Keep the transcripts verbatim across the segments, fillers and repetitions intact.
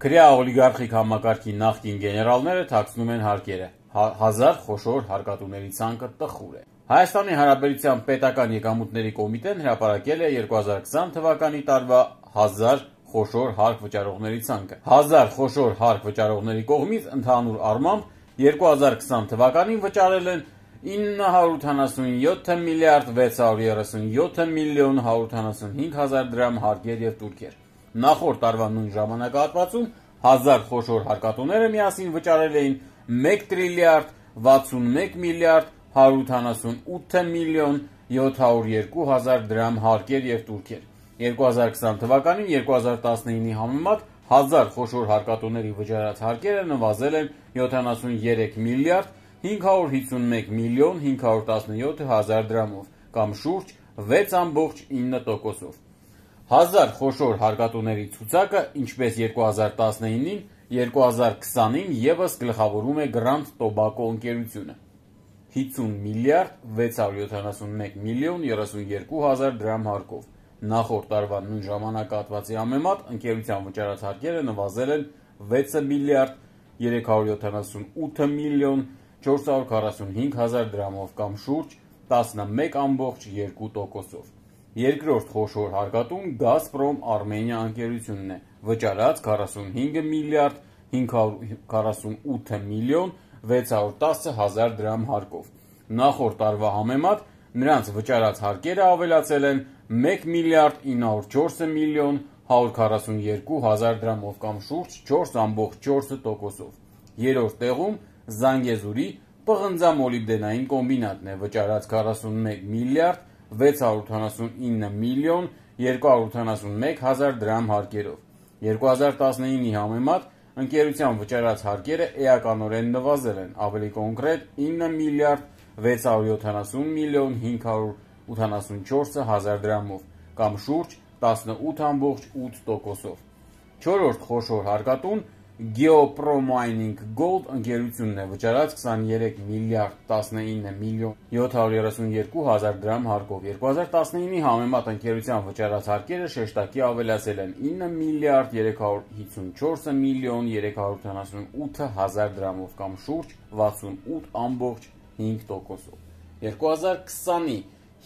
Քրեա օլիգարխիկ համակարգի նախկին գեներալները թաքցնում են հարկերը, հազար խոշոր հարկատուների ցանկը տխուր է։ Հայաստանի Հանրապետության պետական եկամուտների կոմիտեն հրապարակել է երկու հազար քսան թվականի տարվա հազար խոշոր հարկ վճարողների ցանկը։ Հազար խոշոր հարկ վճարողների կողմից ընդհանուր առմամբ երկու հազար քսան թվականին վճարել են ինը հարյուր ութանասունյոթ միլիարդ վեց հարյուր երեսունյոթ միլիոն հարյուր ութանասունհինգ հազար դրամ հարկեր և տուրքեր։ Նախորդ տարվա նույն ժամանակահատվածում հազար խոշոր հարկատուները միասին վճարել էին մեկ տրիլիարդ վաթսունմեկ միլիարդ հարյուր ութանասունութ միլիոն յոթ հարյուր երկու հազար դրամ հարկեր և տուրքեր։ երկու հազար քսան թվականին երկու հազար տասնինի համեմատ հազար խոշոր հարկատուների վճարած հարկերը նվազել են յոթանասունյերեք միլիարդ հինգ հարյուր հիսունմեկ միլիոն հինգ հարյուր տասնյոթ հազար դրամով կամ շուրջ վեց ամբողջ ինը տոկոսով։ Հազար խոշոր հարկատուների ցուցակը, ինչպես երկու հազար տասնինին, երկու հազար քսանին ևս գլխավորում է Grand Tobacco ընկերությունը հիսուն միլիարդ վեց հարյուր յոթանասունմեկ միլիոն երեսունյերկու հազար դրամ հարկով։ Նախորդ տարվա նույն ժամանակահատվածի համեմատ ընկերության վճարած հարկերը նվազել են վեց միլիարդ երեք հարյուր յոթանասունութ միլիոն չորս հարյուր քառասունհինգ հազար դրամով կամ շուրջ տասնմեկ ամբողջ երկու տոկոսով։ Երկրորդ խոշոր հարկատուն Gazprom Armenia ընկերությունն է, վճարած քառասունհինգ միլիարդ հինգ հարյուր քառասունութ միլիոն վեց հարյուր տասը հազար դրամ հարկով։ Նախորդ տարվա համեմատ նրանց վճարած հարկերը ավելացել են մեկ միլիարդ ինը հարյուր չորս միլիոն հարյուր քառասունյերկու հազար դրամով կամ շուրջ չորս ամբողջ չորս տոկոսով։ Երրորդ տեղում Զանգեզուրի պղնձամոլիբդենային կոմբինատն է, վճարած քառասունմեկ միլիարդ վեց հարյուր ութանասունինը միլիոն երկու հարյուր ութանասունմեկ հազար դրամ հարկերով։ երկու հազար տասնինի համեմատ ընկերության վճարած հարկերը էականորեն նվազել են, ավելի կոնկրետ ինը միլիարդ վեց հարյուր յոթանասուն միլիոն հինգ հարյուր ութանասունչորս հազար դրամով կամ շուրջ տասնութ ամբողջ ութ տոկոսով։ Չորրորդ խոշոր հարկատուն Geopromining Gold ընկերությունն է, վճարած քսաներեք միլիարդ տասնինը միլիոն յոթ հարյուր երեսունյերկու հազար դրամ հարկով։ երկու հազար տասնինի համեմատ ընկերության վճարած հարկերը շեշտակի ավելացել են ինը միլիարդ երեք հարյուր հիսունչորս միլիոն երեք հարյուր ութանասունութ հազար դրամով կամ շուրջ վաթսունութ ամբողջ հինգ տոկոսով։ երկու հազար քսանի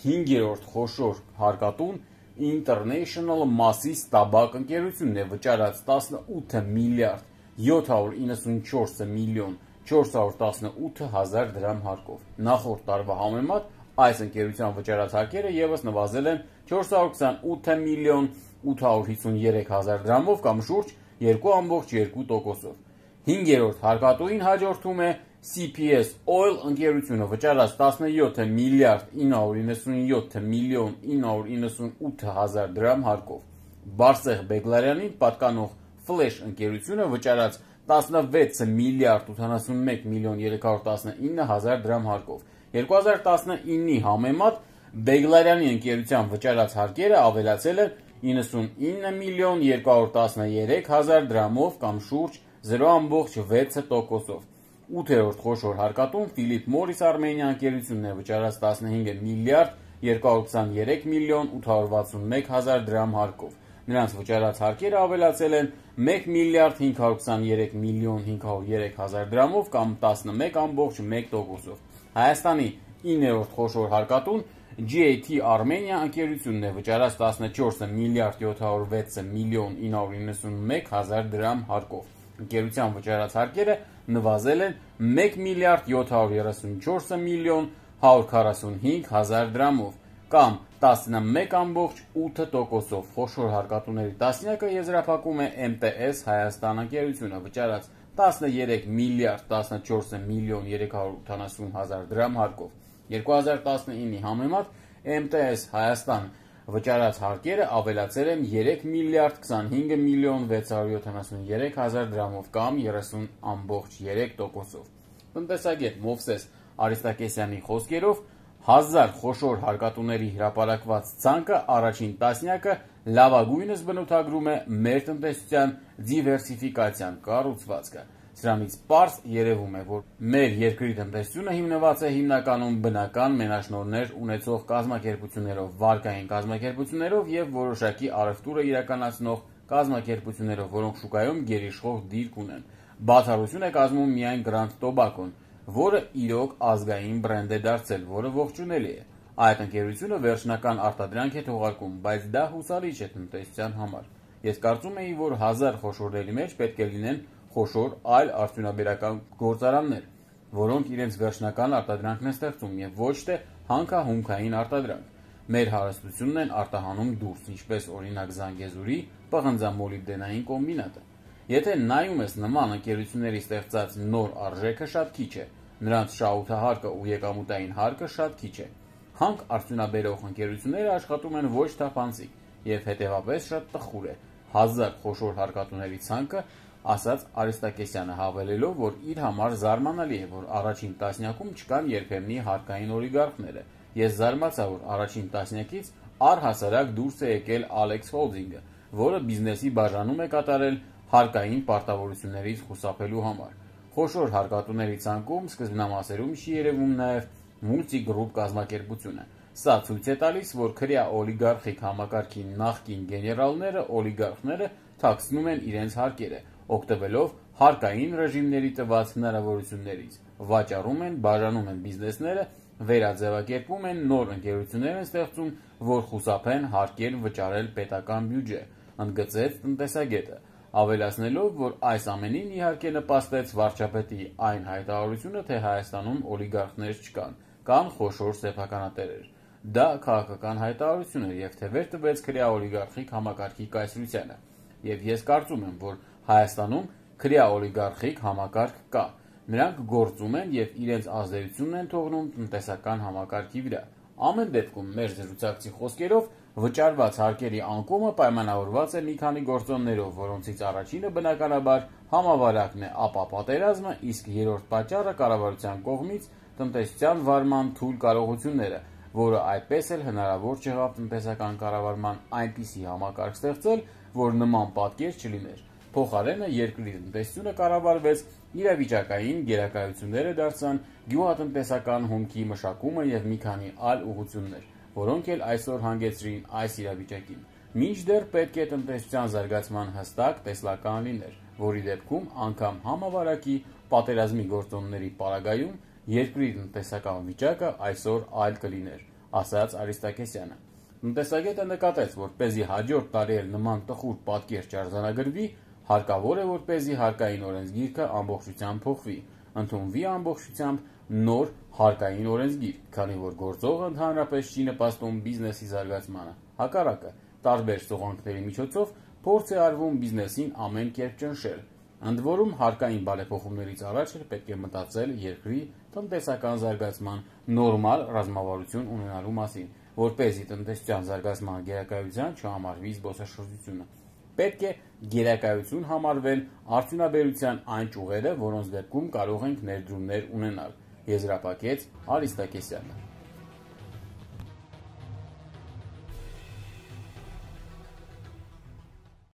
հինգերորդ խոշոր հարկատուն International Massis Tabak ընկերությունն է, վճարած տասնութ միլիարդ յոթ հարյուր իննսունչորս միլիոն չորս հարյուր տասնութ հազար դրամ հարկով։ Նախորդ տարվա համեմատ այս ընկերության վճարած հարկերը ևս նվազել են չորս հարյուր քսանութ միլիոն ութ հարյուր հիսունյերեք հազար դրամով կամ շուրջ երկու ամբողջ երկու տոկոսով։ Հինգերորդ հարկատուին հաջորդում է C P S Oil ընկերությունը, վճարած տասնյոթ միլիարդ ինը հարյուր իննսունյոթ միլիոն ինը հարյուր իննսունութ հազար դրամ հարկով։ Բարսեղ Բեգլարյանին պատկանող Flash ընկերությունը, վճարած տասնվեց միլիարդ ութանասունմեկ միլիոն երեք հարյուր տասնինը հազար դրամ հարկով։ երկու հազար տասնինի համեմատ Բեգլարյանի ընկերության վճարած հարկերը ավելացել են իննսունինը միլիոն երկու հարյուր տասներեք հազար դրամով կամ շուրջ զրո ամբողջ վեց տոկոսով։ Ութերորդ խոշոր հարկատուն Philip Morris Armenia ընկերությունն է, վճարած տասնհինգ միլիարդ երկու հարյուր քսաներեք միլիոն ութ հարյուր վաթսունմեկ հազար դրամ հարկով։ Նրանց վճարած հարկերը ավելացել են մեկ միլիարդ հինգ հարյուր քսաներեք միլիոն հինգ հարյուր երեք հազար դրամով կամ տասնմեկ ամբողջ մեկ տոկոսով։ Հայաստանի իններորդ խոշոր հարկատուն G A T Armenia ընկերությունն է, վճարած տասնչորս միլիարդ յոթ հարյուր վեց միլիոն ինը հարյուր իննսունմեկ հազար դրամ հարկով։ Ընկերության վճարած հարկերը նվազել են մեկ միլիարդ յոթ հարյուր երեսունչորս միլիոն հարյուր քառասունհինգ հազար դրամով կամ տասնմեկ ամբողջ ութ տոկոսով։ Խոշոր հարկատուների տասնյակը եզրափակում է M T S Հայաստան ընկերությունը, վճարած տասներեք միլիարդ տասնչորս միլիոն երեք հարյուր ութանասուն հազար դրամ հարկով։ երկու հազար տասնինի համեմատ M T S Հայաստան վճարած հարկերը ավելացել են երեք միլիարդ քսանհինգ միլիոն վեց հարյուր յոթանասուներեք հազար դրամով կամ երեսուն ամբողջ երեք տոկոսով։ Տնտեսագետ Մովսես Արիստակեսյանի խոսքերով հազար խոշոր հարկատուների հրապարակված ցանկը առաջին տասնյակը լավագույնս բնութագրում է մեր տնտեսության դիվերսիֆիկացիան կառուցվածքը։ Սրանից պարզ երևում է, որ մեր երկրի տնտեսությունը հիմնված է հիմնականում բնական մենաշնորհներ ունեցող կազմակերպություններով, վարկային կազմակերպություններով և որոշակի առևտուրը իրականացնող կազմակերպություններով, որոնք շուկայում գերիշխող դիրք ունեն։ Բացառություն է կազմում միայն Grand Tobacco-ն, որը իրոք ազգային բրենդ է դարձել, որը ողջունելի է։ Այդ ընկերությունը վերջնական արտադրանք է թողարկում, բայց դա հուսալի չէ տնտեսության համար։ Ես կարծում էի, որ հազար խոշորների մեջ պետք է լինեն խոշոր այլ արդյունաբերական գործարաններ, որոնք իրենց վերջնական արտադրանքն են ստեղծում եւ ոչ թե հանքահումքային արտադրանք։ Մեր հարստությունն են արտահանում դուրս, ինչպես օրինակ Զանգեզուրի պղնձամոլիբդենային կոմբինատը։ Եթե նայում ես նման ընկերությունների ստեղծած նոր արժեքը շատ քիչ է, նրանց շահութահարկը ու եկամուտային հարկը շատ քիչ է։ Հանք արդյունաբերող ընկերությունները աշխատում են ոչ թափանցիկ եւ հետեւաբար շատ տխուր է։ Հազար խոշոր հարկատուների ցանկը, ասաց Արիստակեսյանը, հավելելով, որ իր համար զարմանալի է, որ առաջին տասնյակում չկան երբեմնի հարկային օլիգարխները։ Ես զարմացա, որ առաջին տասնյակից առհասարակ դուրս է եկել Alex Holding-ը, որը բիզնեսի բաժանում է կատարել հարկային պարտավորություններից խուսափելու համար։ Խոշոր հարկատուների ցանկում սկզբնամասերում չի երևում նաև Multi Group կազմակերպությունը։ Սա ցույց է տալիս, որ քրեա օլիգարխիկ համակարգի նախկին գեներալները, օլիգարխները թաքցնում են իրենց հարկերը, օգտվելով հարկային ռեժիմների տված հնարավորություններից, վաճառում են, բաժանում են բիզնեսները, վերաձևակերպում են, նոր ընկերություններ են ստեղծում, որ խուսափեն հարկեր վճարել պետական բյուջե, ընդգծեց տնտեսագետը, ավելացնելով, որ այս ամենին իհարկե նպաստեց վարչապետի այն հայտարարությունը, թե Հայաստանում օլիգարխներ չկան, կան խոշոր սեփականատերեր։ Դա քաղաքական հայտարարություն էր եւ թևեր տվեց քրեա օլիգարխիկ համակարգի կայսրությանը։ Եվ ես կարծում եմ, որ Հայաստանում քրեա օլիգարխիկ համակարգ կա։ Նրանք գործում են եւ իրենց ազդեցությունն են թողնում տնտեսական համակարգի վրա։ Ամեն դեպքում մեր զրուցակցի խոսքերով վճարված հարկերի անկումը պայմանավորված է մի քանի գործոններով, որոնցից առաջինը բնականաբար համավարակն է, ապա պատերազմը, իսկ երրորդ պատճառը կառավարության կողմից տնտեսության վարման թույլ կարողությունները, որը այդպես էլ հնարավոր չեղավ տնտեսական կառավարման այնպիսի համակարգ ստեղծել, որ նման պատկեր չլիներ։ Փոխարենը երկրի տնտեսությունը կառավարվեց իրավիճակային գերակայությունները դարձան գյուղատնտեսական հումքի մշակումը եւ մի քանի այլ ուղղություններ, որոնք էլ այսօր հանգեցրին այս իրավիճակին։ Մինչդեռ պետք է տնտեսության զարգացման հստակ տեսլական լիներ, որի դեպքում անգամ համավարակի պատերազմի գործոնների պարագայում երկրի տնտեսական վիճակը այսօր այլ կլիներ, ասաց Արիստակեսյանը։ Տնտեսագետը նկատեց, որ պեսզի հաջորդ տարի էլ նման տխուր պատկեր չարձանագրվի, հարկավոր է, որպեսզի հարկային օրենսգիրքը ամբողջությամբ փոխվի, ընդունվի ամբողջությամբ նոր հարկային օրենսգիր, քանի որ գործողը ընդհանրապես չի նպաստում բիզնեսի զարգացմանը։ Հակառակը, տարբեր սողանքների միջոցով փորձ է արվում բիզնեսին ամեն կերպ ճնշել։ Ընդ որում հարկային բարեփոխումներից առաջ էլ պետք է մտածել երկրի տնտեսական զարգացման նորմալ ռազմավարություն ունենալու մասին, որպեսզի տնտեսության զարգացման գերակայության չհամարվի զբոսաշրջությունը։ Պետք է գերակայություն համարվեն արդյունաբերության այն ճյուղերը, որոնց դեպքում կարող ենք ներդրումներ ունենալ, եզրափակեց Արիստակեսյանը։